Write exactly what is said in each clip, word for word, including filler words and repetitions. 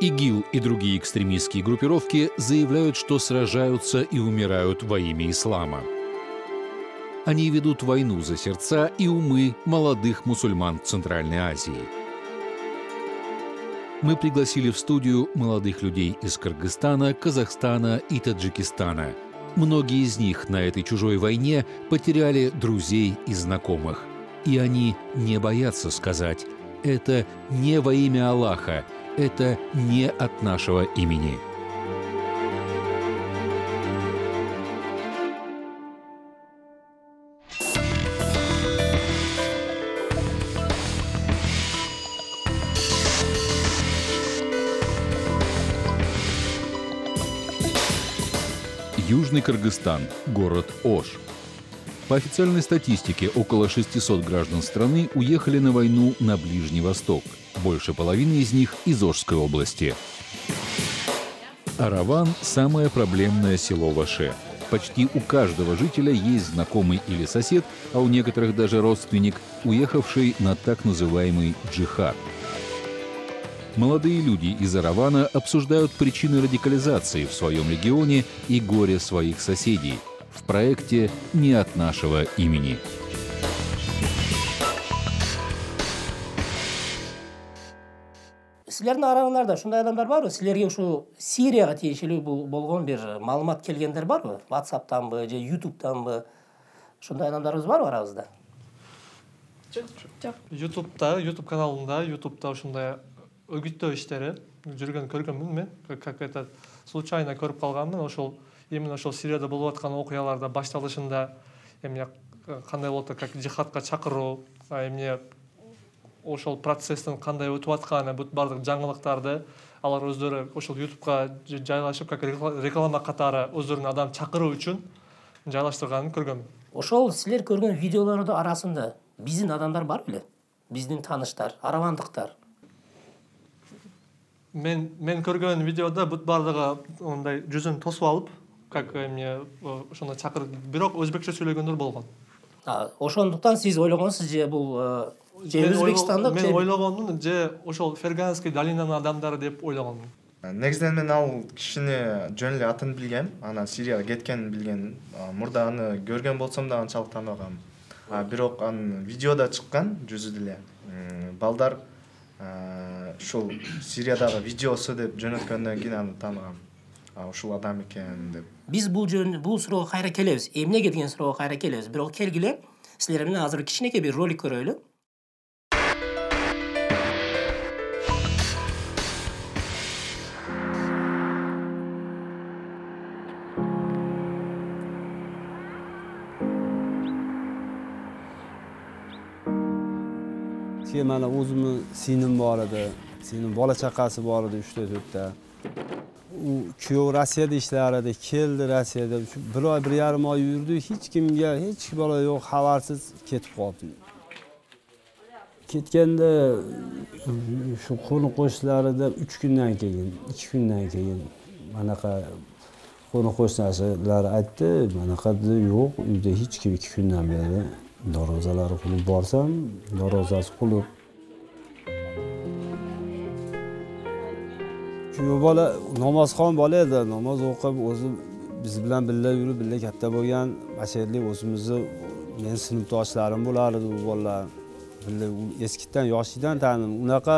ИГИЛ и другие экстремистские группировки заявляют, что сражаются и умирают во имя ислама. Они ведут войну за сердца и умы молодых мусульман Центральной Азии. Мы пригласили в студию молодых людей из Кыргызстана, Казахстана и Таджикистана. Многие из них на этой чужой войне потеряли друзей и знакомых. И они не боятся сказать: это не во имя Аллаха, это не от нашего имени. Южный Кыргызстан, город Ош. По официальной статистике, около шестисот граждан страны уехали на войну на Ближний Восток. Больше половины из них из Ошской области. Араван – самое проблемное село в Оше. Почти у каждого жителя есть знакомый или сосед, а у некоторых даже родственник, уехавший на так называемый джихад. Молодые люди из Аравана обсуждают причины радикализации в своем регионе и горе своих соседей в проекте «Не от нашего имени». Силердин араңарда ушундай адамдар барбы? Силерге ушу Сирияга тиешелүү болгон бир маалымат келгендер барбы? WhatsApp'танбы же YouTube'танбы? Ушундай адамдарыбыз барбы арабызда? Жок, жок. YouTube'да, YouTube каналында, YouTube'да ушундай өгүттөө иштери жүргөн көргөнмүн мен. Как это случайно көрүп калганмын. Ошол именно ошол Сирияда болуп аткан окуяларда башталышында эмне кандай болот, как жихадка чакыруу, эмне ошол процесстин кандай өтүп атканы, бүт бардык жаңылыктарды алар өздөрү ошол YouTube'га жайлашып, как реклама катары өздөрүнүн адам чакыруу үчүн жайлаштырганын көргөм. Ошол силер көргөн видеолордун арасында биздин адамдар бар беле? Биздин тааныштар, аравандыктар. Мен мен көргөн видеода бүт бардыгы ондай жүзүн тосуп алып, как эмне ошондо чакырып, бирок өзбекче сүйлөгөндөр болгон. Ошондуктан сиз ойлогонсуз же бул же Өзбекстандык же мен ойлогондун же ошол Ферганский долинанын адамдары деп ойлогонмун. Негизинен мен ал кишини жөн эле атын билгем, анан Сирияга кеткенин билгем. Мурда аны көргөн болсом да анчалык тааныбагам. Бирок анын видеода чыккан жүзү деле. Балдар ушул Сириядагы видеосу деп жөнөткөндөн кийин аны тааныгам. Ушул адам экен деп. Биз бул жөн бул суроого кайра келебиз. Эмнеге деген суроого кайра келебиз. Бирок келгиле, силер менен азыр кичинекей бир ролик көрөлү. Mana o'zimni singlim bor edi, singlim bola chaqasi bor edi uch to'rtta. U kuyov Rossiyada ishlar edi, keldi Rossiyada. Bir oy, bir yarim oy yurdi, hech kimga, hech bola yo'q, xabarsiz ketib qoldi. Ketganda shu qo'ni qo'shnilarida uch kundan keyin, ikki kundan keyin manaqa qo'ni qo'shnilar aytdi, manaqa yo'q, uyda hech kim ikki kundan beri darvozalari qilib borsam, darvozasi qulib. Shu bola namozxon bola edi, namoz o'qib, o'zi biz bilan birga yurib, birga katta bo'lgan, mashallah o'zimizni men sinfdoshlarim bo'lardi u bolalar. Birga eskidan, yoshlikdan tanidim. Unaqa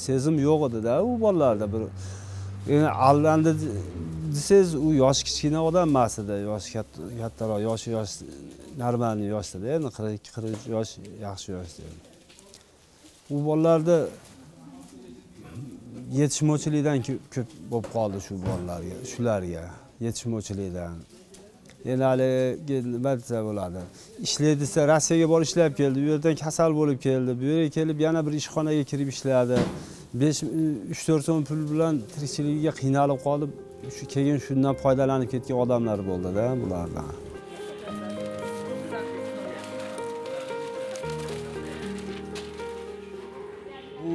sezim yo'q edi-da u bolalarda bir. Endi allandi desiz u yosh kichkina odam emas edi, yosh kattaroq, yoshi yosh normal yoshda, endi qirq ikki qirq uch yosh yaxshi yoshda. U bolalarda yetishmovchilikdan ko'p bo'lib qoldi shu bolalarga, shularga, yetishmovchilikdan. Endi hali nima desa bo'ladi. Ishlaydi desa Rossiyaga borib ishlab keldi, u yerdan kasal bo'lib keldi, bu yerga kelib yana bir ishxonaga kirib ishladi. besh uch to'rt so'm pul bilan tirikchiligiga qiynalib qolib, shu keyin shundan foydalanib ketgan odamlar bo'ldi-da bulardan. U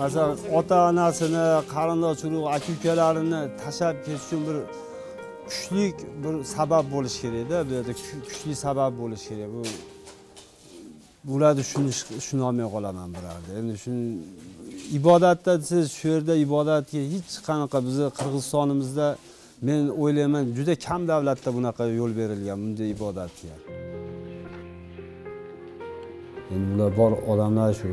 masalan ota-onasini, qarindosh urug', aka-ukalarini tashlab ketish uchun bir kuchli bir sabab bo'lish kerak-da, bu yerda kuchli sabab bo'lish kerak. Bu bularni shuni shuni olmay qolaman birarda. Endi shuni ibodatda siz shu yerda ibodatga hech qanaqa bizni Qirg'izistonimizda men o'ylayman juda kam davlatda bunaqa yo'l berilgan bunday ibodatga. Endi ular bor odamlar shu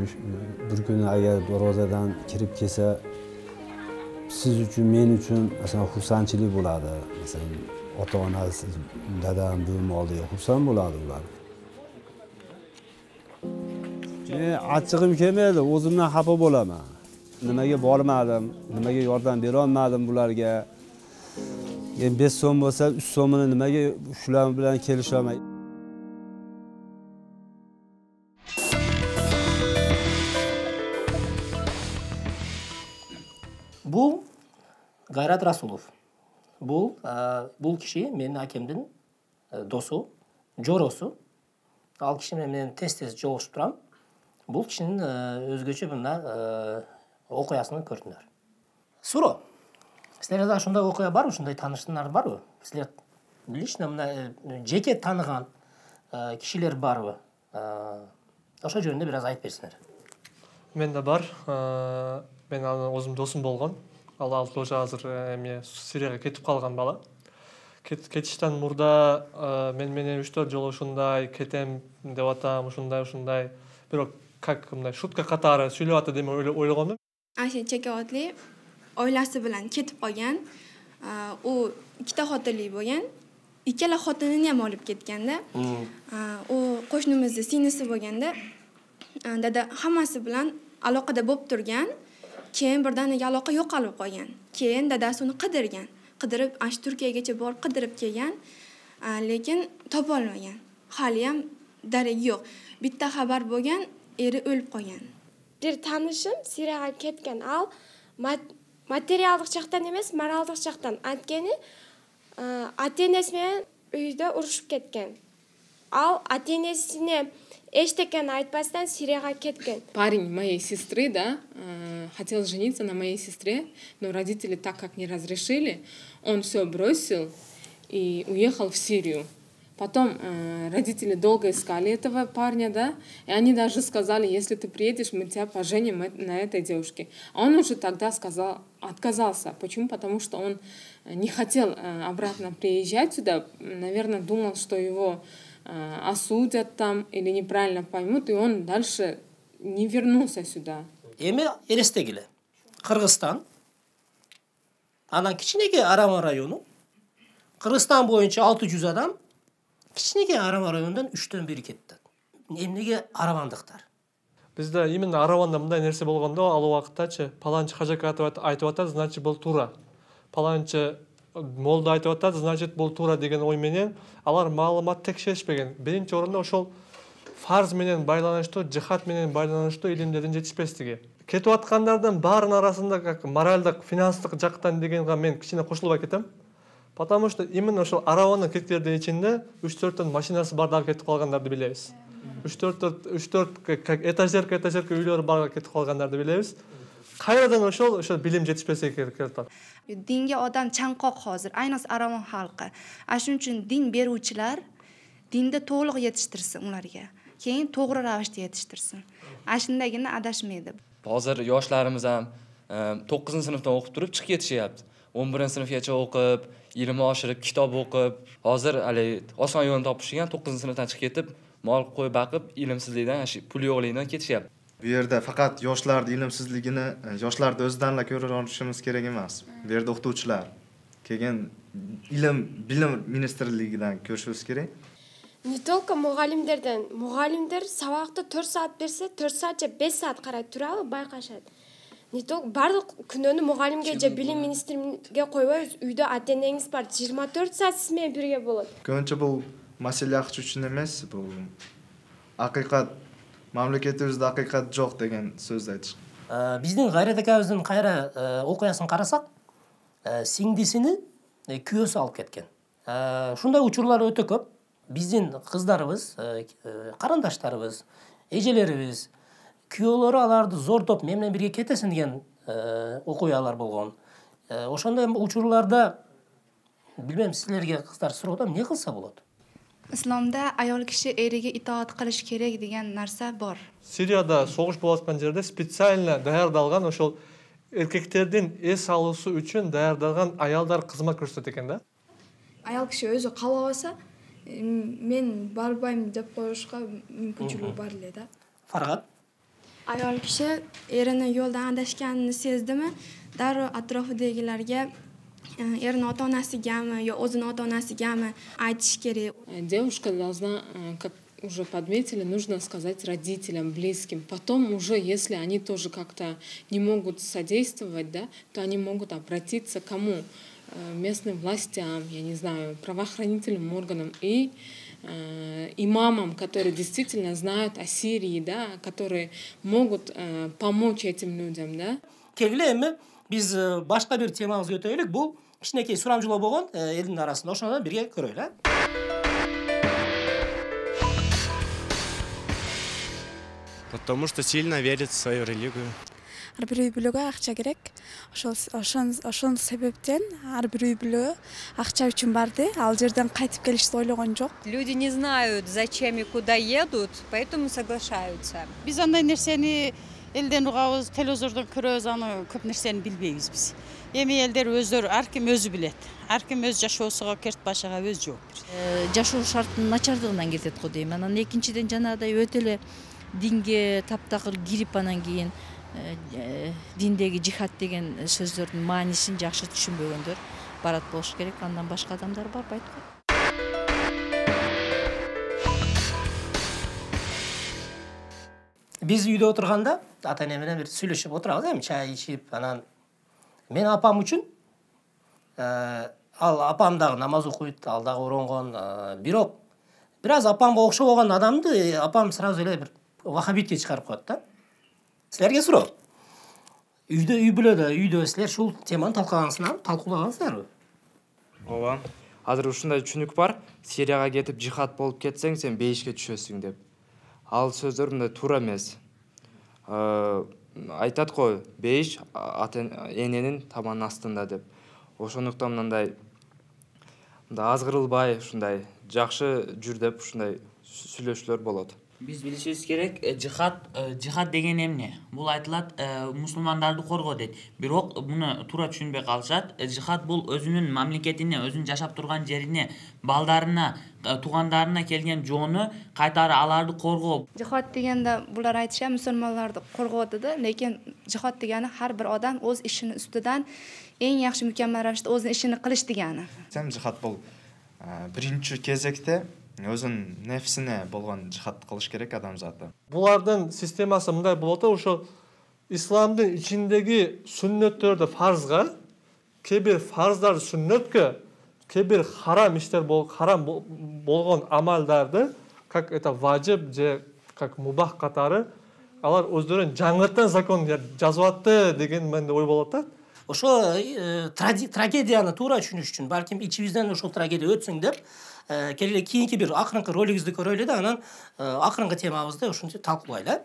bir kuni agar ro'zadan kirib kelsa, siz uchun, men uchun masalan xursandchilik bo'ladi. Masalan, ota-onasi, dadam, buvim oldiga xursand bo'ladi ular. Men achchig'im kelmaydi, o'zimdan xafa bo'laman. Nimaga bormadim, nimaga yordam bera olmadim bularga? Endi besh so'm bo'lsa, uch so'mini nimaga shular bilan kelisha olmayman? Bu Gayrat Rasulov. Bu bул киши менин акемдин досу, жоросу. Ал киши менен тез-тез жолугушуп турам. Бул кишинин өзгөчө мына окуясын көрдүңөр. Суро. Силерде да ушундай окуя барбы? Ушундай таанышыңар барбы? Силер лично мына жеке тааныган кишилер барбы? Ошо жөнүндө бир аз айтып берсиңер. Менде бар. Мен анын өзүм досум болгон. Ал ал тоже азыр эме Сирияга кетип калган бала. Кетиштен мурда мен менен үч төрт жолу ушундай кетем деп атам, ушундай ушундай. Бирок как мындай шутка катары сүйлөп атат деп ойлогондум. Аша Чекеотли oilasi bilan ketib qolgan. U ikkita xotinli bo'lgan. Ikkala xotinini ham olib ketganda, u qo'shnimizning singlisi bo'lganda, dada hammasi bilan aloqada bo'lib turgan. Keyin birdaniga aloqa yo'qolib qolgan. Keyin dadasi uni qidirgan. Qidirib, ash Turkiyagacha borib qidirib kelgan, lekin topa olmagan. Hali ham daragi yo'q. Bitta xabar bo'lgan, eri o'lib qolgan. Bir tanishim Siriyaga ketgan. Al materialдык жактан эмес, моралдык жактан. Анткени ата-энеси менен үйдө урушуп кеткен. Ал ата-энесине эчтекени айтпастан Сирияга кеткен. Парень моей сестры, да, хотел жениться на моей сестре, но родители так как не разрешили, он все бросил и уехал в Сирию. Потом э, родители долго искали этого парня, да, и они даже сказали, если ты приедешь, мы тебя поженим на этой девушке. А он уже тогда сказал, отказался. Почему? Потому что он не хотел э, обратно приезжать сюда, наверное, думал, что его э, осудят там или неправильно поймут, и он дальше не вернулся сюда. Эми элестегиле. Кыргызстан, анан кичинеге Арама району, Кыргызстан боюнча алты жүз адам, кичинеге Арама районунан үчтөн бири кетти. Эмнеге аравандыктар? Бизде именно Араванда мындай нерсе болгондо, ал убактачы паланчы кажак айтып атат, значит бул туура. Паланчы молда айтып атат, значит бул туура деген ой менен алар маалымат текшеришпеген. Биринчи орунда ошол фарз менен байланыштуу, жихад менен байланыштуу илимдердин жетишпестиги. Кетип аткандардын баарынын арасында как моралдык, финанстык жактан дегенге мен кичине кошулбай кетем. Потому что именно ошол Араванын кеткендердин ичинде үч төрттөн машинасы бардап кетип калгандарды билебиз. үч төрт үч төрт как этажерка этажерка үйлөрү барга кетип калгандарды билебиз. Кайрадан ошол ошол билим жетишпесе керек атат. Dinga odam chanqoq hozir, ayniqsa Aravan xalqi. Shuning uchun din beruvchilar dinda to'liq yetishtirsin ularga. Keyin to'g'ri ravishda yetishtirsin. Shundagina adashmaydi. Hozir yoshlarimiz ham to'qqizinchi sinfdan o'qib turib chiqib ketishyapti. o'n birinchi sinfgacha o'qib, ilmni oshirib, kitob o'qib, hozir hali oson yo'lni topishgan to'qqizinchi sinfdan chiqib ketib, mol qo'y baqib, ilmsizlikdan, pul yo'qlikdan ketishyapti. Bu yerda faqat yoshlarning ilmsizligini yoshlarni o'zidanla ko'ra olishimiz kerak emas. Bu yerda o'qituvchilar, keyin ilm, bilim ministrligidan ko'rishimiz kerak. Не только muallimlerden, muallimler sabahta to'rt soat bersa, to'rt soatcha besh soat qarab turadi, bayqashadi. Не только барлык күнөөнү muallimге же билим министриге койбойбуз. Үйдө ата-энеңиз бар, жыйырма төрт саат сиз менен бирге болот. Көбүнчө бул маселе акча үчүн эмес, бул акыйкат, мамлекетибизде акыйкат жок деген сөздү айтышкан. Биздин Гайрат акабыздын кайра окуясын карасак, сиңдисини күйөөсү алып кеткен. Ушундай учурлар өтө көп. Биздин кыздарыбыз, карандаштарыбыз, эжелерибиз күйөөлөрү аларды зордоп мен менен бирге кетесиң деген окуялар болгон. Ошондой учурларда билбейм, силерге кыздар суроодо эмне кылса болот? Islomda ayol kishi eriga itoat qilish kerak degan narsa bor. Сирияда согуш болуп аткан жерде специально даярдалган ошол эркектердин эс алуусу үчүн даярдалган аялдар кызмат көрсөтөт экен да. Ayol kishi o'zi qalabasa, men barbayım deb qo'yishga мүмкүнчүлүгү бар эле да. Farhat? Ayol kishi erini yo'ldan adashganini sezdimi, darrov atrofidagilarga erini ota-onasigami yo o'zini ota-onasigami aytish kerak. Девушка должна, как уже подметили, нужно сказать родителям, близким. Потом уже, если они тоже как-то не могут содействовать, да, то они могут обратиться к кому? Местным властям, я не знаю, правоохранительным органам и э, имамам, которые действительно знают о Сирии, да, которые могут э, помочь этим людям, да. Келгиле эми биз башка бир темабызга өтөйлүк. Бул кичинекей сурамжылоо болгон элдин арасында. Ошону бирге көрөлү. Потому что сильно верит в свою религию. Ар бир үй бүлөгө акча керек. Ошол ошол себептен ар бир үй бүлө акча үчүн барды. Ал жерден кайтып келишти ойлогон жок. Люди не знают, зачем и куда едут, поэтому соглашаются. Биз андай нерсени элден угабыз, телевизордон көрөбүз, аны көп нерсени билбейбиз биз. Эми элдер өздөрү ар ким өзү билет. Ар ким өз жашоосуга, керт башыга өз жооп берет. Жашоо шартынын начардыгынан кетет го дейм. Анан экинчиден жанагыдай өтө эле динге таптакыр кирип анан кийин диндеги жихад деген сөздөрдүн маанисин жакшы түшүнбөгөндөр барат болуш керек. Андан башка адамдар барбайт го. Биз үйдө отурганда ата-эне менен бир сүйлөшүп отурабыз, эми чай ичип, анан мен апам үчүн ал апам дагы намаз окуйт, ал дагы оронгон, бирок бир аз апамга окшоп болгон адамды апам сразу эле бир вахабитке чыгарып коет да. Силерге суроо. Үйдө, үй бүлөдө, үйдө силер ушул теманы талкулагансыңарбы? Талкуулагансыңарбы? Ооба. Азыр ушундай түшүнүк бар. Сирияга кетип жихад болуп кетсең, сен бейишке түшөсүң деп. Ал сөздөр мындай туура эмес. Айтат го, бейиш ата-эненин табанынын астында деп. Ошондуктан мындай мындай азгырылбай, ушундай жакшы жүр деп ушундай сүйлөшүүлөр болот. Биз билишибиз керек, жихад, жихад деген эмне? Бул айтылат, мусулмандарды коргоо дейт. Бирок муну туура түшүнбөй калышат. Жихад бул өзүнүн мамлекетине, өзүнүн жашап турган жерине, балдарына, туугандарына келген жоону кайтары аларды коргоо. Жихад дегенде булар айтыша мусулмандарды коргоо деди, lekin жихад дегени har bir odam o'z ishini ustidan eng yaxshi mukammal ravishda o'z ishini qilish degani. Сам жихад бул биринчи кезекте өзүнүн нефсине болгон жихад кылыш керек адамзаты. Булардын системасы мындай болот, ошо исламдын ичиндеги сүннөттөрдү фарзга, кээ бир фарздар сүннөткө, кээ бир харам иштер бол, харам болгон амалдарды, как это важип же как мубах катары, алар өздөрүнүн жаңыртан закон жазып атты деген менде ой болот да. Ошо трагедияны туура түшүнүш үчүн, балким ичибизден ошол трагедия өтсүң деп, келе кийинки бир акырынкы ролигибизди көрөлү да, анан акырынкы темабызды ушунча талкуулайлы.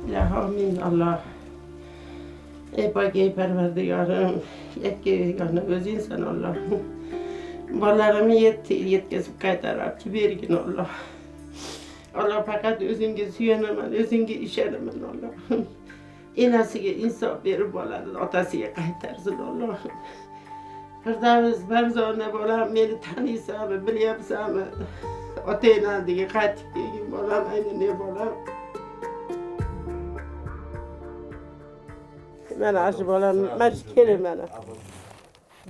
Ya amin Allah. Ey bak ey perverdigarım, yetkegana öz insan Allah. Balarımı yet, yetkesip kaytarıp bergin Allah. Allah fakat özünge süyenemen, özünge işenemen Allah. Enasiga insaf berip boladi, otasiga qaytarsın Allah. Firdavs Barzona bolam meni taniysanmi, bilyapsanmi? Ota-enandiga qaytib kelgin bolam, ayni ne bolam? Mana shu bolam, mana shu kelin mana.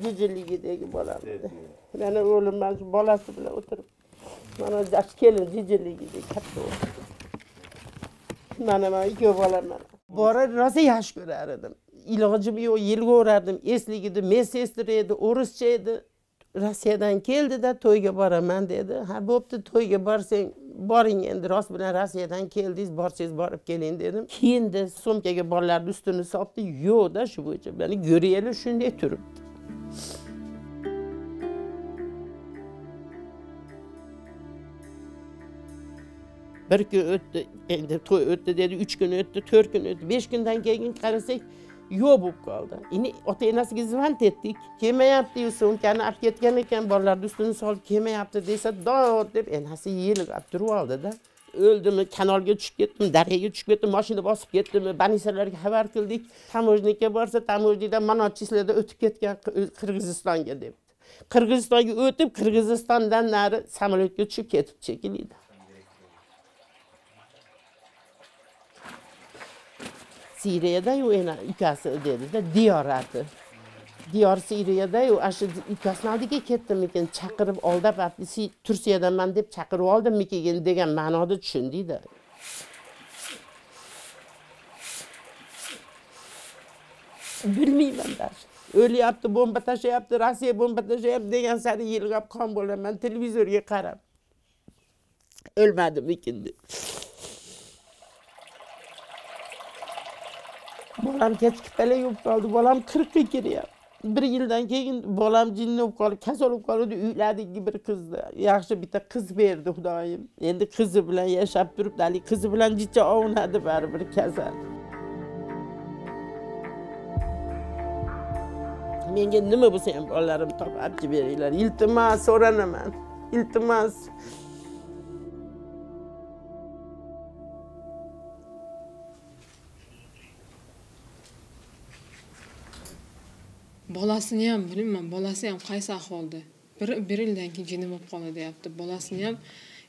Jijiligidagi bolam. Mana o'g'lim mana shu bolasi bilan o'tirib. Mana yosh kelin jijiligidagi katta o'g'lim. Mana mana ikki bolam mana. Bora rosa yaxshi ko'rar edim. Ilojim yo'q, yilga o'rardim. Esligida medsestra edi, o'rischa edi. Rossiyadan keldi-da to'yga boraman dedi. Ha, bo'pti, to'yga borsang, boring endi, rost bilan Rossiyadan keldingiz, borsangiz borib keling dedim. Keyin sumkaga bolalarni ustini soldi. Yo'q-da, shu bo'yicha meni ko'raylik shunday turibdi. Bir gün öttü, endi toy öttü dedi, üç gün öttü, dört gün öttü, beş günden keyin karasak yo'q bo'lib qoldi. Endi ota enasiga zvont etdik. Kelmayapti, so'mkani olib ketgan ekan, bolalarni ustini solib kelmayapti desa, dod deb enasi yelib turib oldida. O'ldimi, kanalga tushib ketdim, daryoga tushib ketdim, mashina bosib ketdimi, banisalarga xabar qildik. Tamojnikka borsa, tamojnikdan mana chislada o'tib ketgan Qirg'izistonga deb. Qirg'izistonga o'tib, Qirg'izistondan nari samolyotga tushib ketib chekildi. Siriyada yu ena ukasi dedi-da, diyorati. Diyor Siriyada yu ashu ukasini oldiga ketdimikin, chaqirib oldab, Turkiyadanman deb chaqirib oldimmikin degan ma'noda tushundida. Bilmayman da. O'lyapti, bomba tashlayapti, Rossiya bomba tashlayapti degan sari yilg'ab qon bo'laman televizorga qarab. O'lmadimikin deb. Bolam kechikib qala yurib qoldi. Bolam qirqqa kiryapti. Bir yildan keyin bolam jinni bo'lib qolib, kasal bo'lib qoldi. Uyladagi bir qizni, yaxshi bitta qiz berdi Xudoyim. Endi qizi bilan yashab turibdi. Ali qizi bilan jicha ovunadi baribir kasal. Menga nima bo'lsa ham bolalarim topib beringlar. Iltimos so'ranaman. Iltimos. Bolasini ham bilmayman, bolasi ham qaysi ahvolda. Bir bir yildan keyin jinni bo'lib qoldi deyapti. Bolasini ham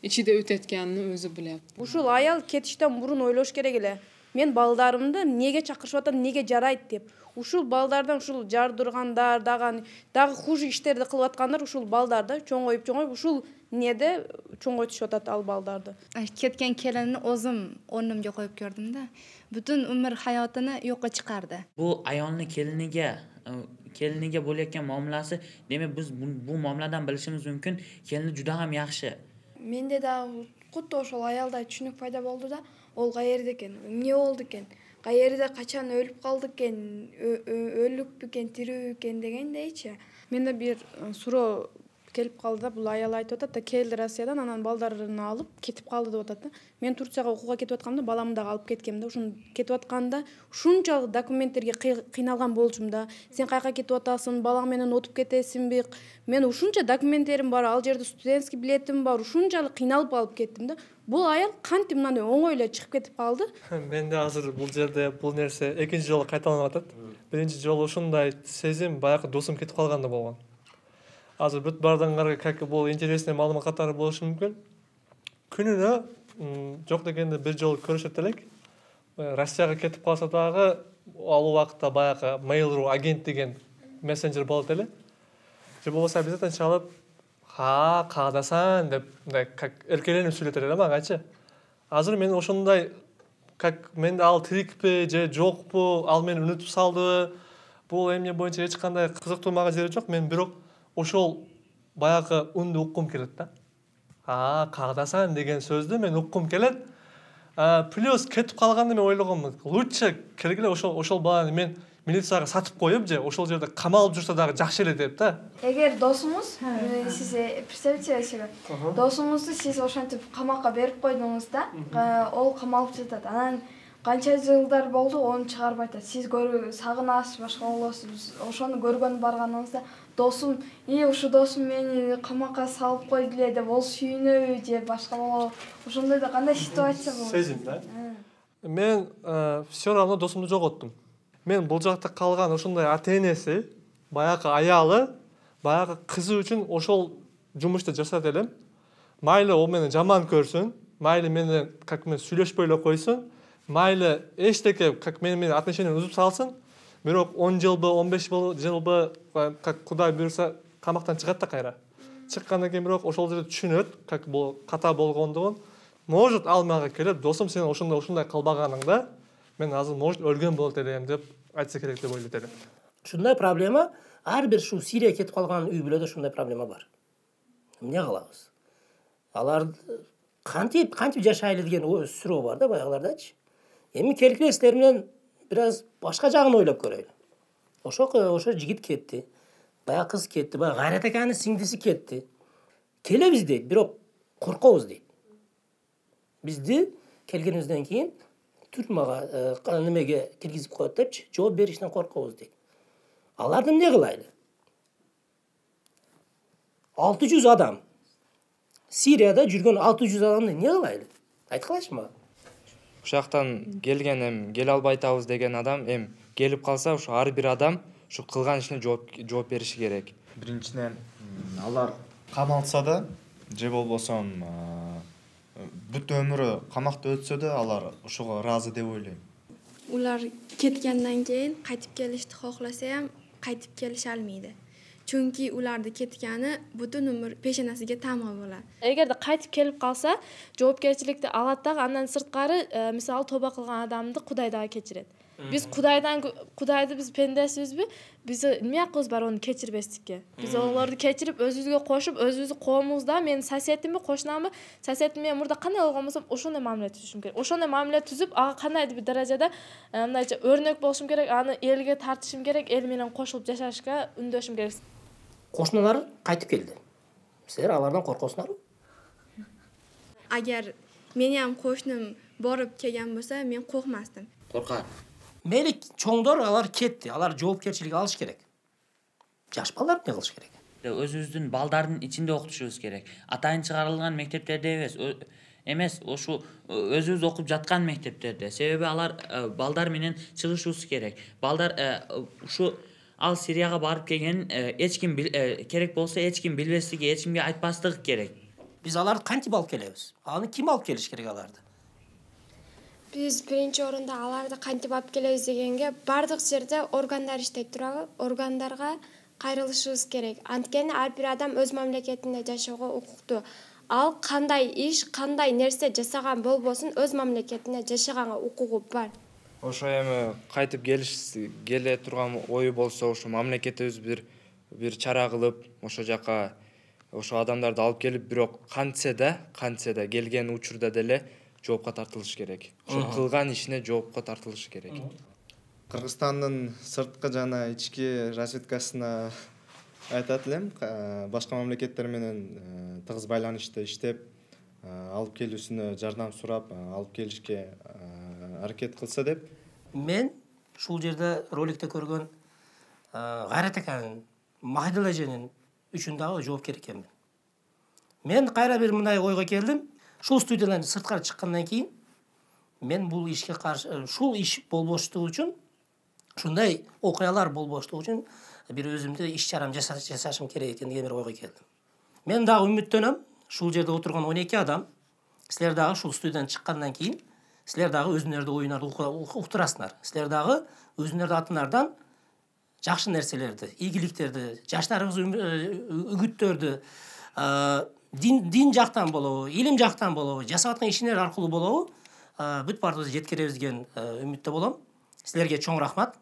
ichida o'tayotganini o'zi bilyapti. Ушул аял кетиштен мурун ойлош керек эле. Мен балдарымды неге чакырышып атат, неге жарайт деп. Ушул балдардан ушул жардыргандар, дагы дагы хуже иштерди кылып аткандар ушул балдарды чоңоюп чоңоюп ушул неде чоңойтушуп атат ал балдарды. Ketken kelinni o'zim o'rnimga qo'yib ko'rdim-da. Butun umr hayotini yo'qqa chiqardi. Bu ayolni keliniga keliniga bo'layotgan muomalasi, demak biz bu, bu muomaladan bilishimiz mumkin, kelini juda ham yaxshi. Mende dagы xuddi ошол аялдай түшүнүк пайда болду да, ол каерде экен, эмне болду экен, каерде качан өлүп калды экен, өлүкпү экен, тирүүбү экен дегендейчи. Менде бир суроо келип калды да, бул аял айтып атат да, келди Россиядан, анан балдарын алып кетип калды деп атат да. Мен Турцияга окууга кетип аткамда, баламды дагы алып кеткем да, ушун кетип атканда ушунчалык документтерге кыйналган болчумун да. Сен кайка кетип атасың, балаң менен отуп кетесиңби? Мен ушунча документтерим бар, ал жерде студентский билетим бар, ушунчалык кыйналып алып кеттим да. Бул аял кантип мындай оңой эле чыгып кетип калды? Менде азыр бул жерде бул нерсе экинчи жолу кайталанып атат. Биринчи жолу ушундай сезим баягы досум кетип калганда болгон. Азыр бүт бардыңарга как бул интересный маалымат катары болушу мүмкүн. Күнүнө жок дегенде бир жолу көрүшөт элек. Россияга кетип калса дагы ал убакытта баягы Mail.ru агент деген мессенджер болот эле. Же болбосо обязательно чалып, "Ха, каадасаң" деп мындай как эркеленип сүйлөтөр эле магачы. Азыр мен ошондой как мен ал тирикпи же жокпу, ал мени унутуп салдыбы, бул эмне боюнча эч кандай кызыктуу мага жери жок. Мен бирок ошол баягы үнду уккум келет да. А, каадасаң деген сөздү мен уккум келет. Плюс кетип калганды мен ойлогонмун. Лучше келгиле ошол ошол баланы мен милицияга сатып коюп же ошол жерде камалып жүрсө дагы жакшы эле деп да. Эгер досуңуз, сиз представьте себе, досуңузду сиз ошентип камакка берип койдуңуз да, ол камалып жатат. Анан канча жылдар болду, onu чыгарып айтат. Сиз көрүү сагынасыз, башка болосуз. Ошону көргөн барганыңызда досум, "И, ушу досум мени камакка салып койду эле" деп ол сүйүнөбү же башка болобу? Ошондой да кандай ситуация болот? Сезим да. Мен все равно досумду жоготтум. Мен бул жакта калган ошондой ата-энеси, баягы аялы, баягы кызы үчүн ошол жумушту жасат элем. Майлы ол мени жаман көрсүн, майлы менен как мен сүйлөшпөй эле койсун, майлы эчтеке как мени менен отношение үзүп салсын. Бирок он жылбы, он беш жылбы как Кудай буйрса камактан чыгат да кайра. Чыккандан кийин бирок ошол жерде түшүнөт, как бул ката болгондугун. Может ал мага келип, "Досум, сен ошондой ушундай кылбаганыңда мен азыр может өлгөн болот элем" деп айтса керек деп ойлойт элем. Ушундай проблема ар бир ушул Сирия кетип калган үй бүлөдө ушундай проблема бар. Эмне кылабыз? Алар кантип кантип жашайлы деген суроо бар да баягылардачы. Эми келгиле силер менен бир аз башка жагын ойлоп көрөйлү. Ошо ошо жигит кетти. Баягы кыз кетти, баягы Кайрат аканын сиңдиси кетти. Келебиз дейт, бирок коркобуз дейт. бизди келгенибизден кийин түрмага немеге киргизип коет депчи, жооп бериштен коркобуз дейт. Аларды эмне кылайлы? алты жүз адам. Сирияда жүргөн алты жүз адамды эмне кылайлы? Айткылачы мага. Ушул жактан келген эм келе албай атабыз деген адам эм келип калса, ушу ар бир адам ушу кылган ишине жооп жооп бериши керек. Биринчиден алар камалса да же болбосо бүт өмүрү камакта өтсө да алар ушуга ыраазы деп ойлойм. Ular ketgandan keyin qaytib kelishni xohlasa ham qaytib kelisha olmaydi. Chunki ularni ketgani butun umr peshonasiga tama bo'ladi. Эгерде кайтып келип калса, жоопкерчиликти алат дагы, андан сырткары, мисалы тоба кылган адамды Кудай дагы кечирет. Биз Кудайдан Кудайды биз пендесибизби? Биз эмне акыбыз бар аны кечирбестикке? Биз олорду кечирип, өзүбүзгө кошуп, өзүбүздүн коомубузда менин соседимби, кошунамбы, соседим менен мурда кандай болгон болсом, ошондой мамиле түзүшүм керек. Ошондой мамиле түзүп, ага кандайдыр бир даражада мындайча өрнөк болушум керек, аны элге тартышым керек, эл менен кошулуп жашашка үндөшүм керек. Кошуналар кайтып келди. Силер алардан коркосуңарбы? Agar meni ham qo'shnim borib kelgan bo'lsa, men qo'rqmasdim. Коркат. Мейли чоңдор алар кетти, алар жоопкерчилик алыш керек. Жаш балдар эмне кылыш керек? Өзүбүздүн балдардын ичинде окутушубуз керек. Атайын чыгарылган мектептерде эмес, эмес, ошо өзүбүз окуп жаткан мектептерде. Себеби алар балдар менен чыгышыбыз керек. Балдар ушу ал Сирияга барып келген эч ким керек болсо эч ким билбестиги, эч кимге айтпастыгы керек. Биз аларды кантип алып келебиз? Аны ким алып келиш керек аларды? Биз биринчи орунда аларды кантип алып келебиз дегенге, бардык жерде органдар иштеп турабы, органдарга кайрылышыбыз керек. Анткени ар бир адам өз мамлекетинде жашоого укуктуу. Ал кандай иш, кандай нерсе жасаган болбосун, өз мамлекетинде жашаганга укугу бар. Ошо эми кайтып келиш келе турган ою болсо, ошо мамлекетибиз бир бир чара кылып, ошо жака ошо адамдарды алып келип, бирок кантсе да, кантсе да келген учурда деле жоопко тартылыш керек. Ошо кылган ишине жоопко тартылыш керек. Кыргызстандын сырткы жана ички разведкасына айтат элем, башка мамлекеттер менен тыгыз байланышта иштеп, алып келүүсүнө жардам сурап, алып келишке аракет кылса деп. Мен ушул жерде роликте көргөн Кайрат аканын Махидул эженин үчүн дагы жоопкер экенмин. Мен кайра бир мындай ойго келдим. Шул студиядан сырткары чыккандан кийин мен бул ишке каршы, шул иш болбоштугу үчүн, ушундай окуялар болбоштугу үчүн бир өзүмдө иш чарам жасашым керек экен деген бир ойго келдим. Мен дагы үмүттөнөм, шул жерде отурган он эки адам, силер дагы шул студиядан чыккандан кийин силер дагы өзүңөрдү оюңарды уктурасыңар. Силер дагы өзүңөрдүн атыңардан жакшы нерселерди, ийгиликтерди, жаштарыбыз үгүттөрдү, дин дин жактан болобу, илим жактан болобу, жасап аткан ишиңер аркылуу болобу, бүт баардыгыбызды жеткиребиз деген үмүттө болом. Силерге чоң рахмат.